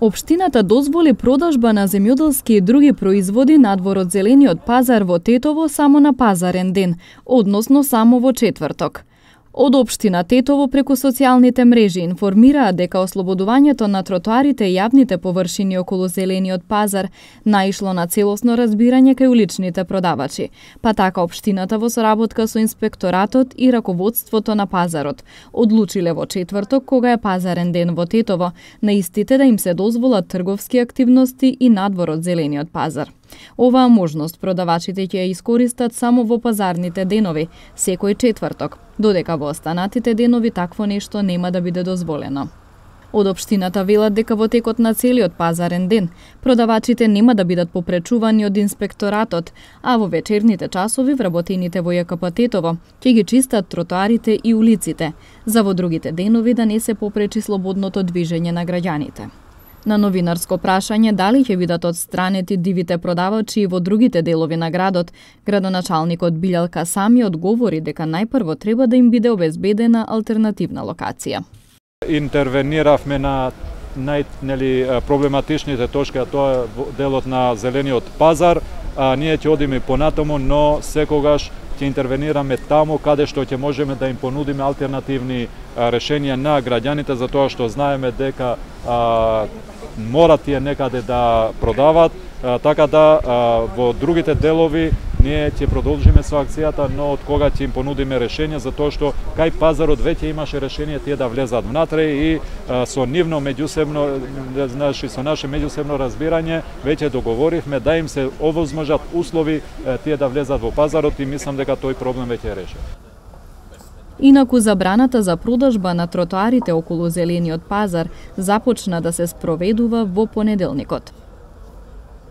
Општината дозволи продажба на земјоделски и други производи надвор од зелениот пазар во Тетово само на пазарен ден, односно само во четврток. Од општина Тетово преку социјалните мрежи информираат дека ослободувањето на тротоарите и јавните површини околу зелениот пазар наишло на целосно разбирање кај уличните продавачи, па така општината во соработка со инспекторатот и раководството на пазарот одлучиле во четврток, кога е пазарен ден во Тетово, на истите да им се дозволат трговски активности и надвор од зелениот пазар. Оваа можност продавачите ќе ја искористат само во пазарните денови, секој четврток, додека во останатите денови такво нешто нема да биде дозволено. Од општината велат дека во текот на целиот пазарен ден продавачите нема да бидат попречувани од инспекторатот, а во вечерните часови вработените во ЈКП Тетово ќе ги чистат тротоарите и улиците, за во другите денови да не се попречи слободното движење на граѓаните. На новинарско прашање дали ќе бидат отстранети дивите продавачи и во другите делови на градот, градоначалникот Билјал Касами одговори дека најпрво треба да им биде обезбедена алтернативна локација. Интервениравме на проблематичните точки, а тоа е делот на зелениот пазар. Ние ќе одиме понатаму, но секогаш ќе интервенираме таму каде што ќе можеме да им понудиме алтернативни решенија на граѓаните, затоа што знаеме дека морат тие некаде да продават, така да во другите делови ние ќе продолжиме со акцијата, но од кога ќе им понудиме решение, затоа што кај пазарот веќе имаше решение тие да влезат внатре и со нивно меѓусебно, со наше меѓусебно разбирање веќе договоривме да им се овозможат услови тие да влезат во пазарот и мислам дека тој проблем веќе е решен. Инаку забраната за продажба на тротоарите околу зелениот пазар започна да се спроведува во понеделникот.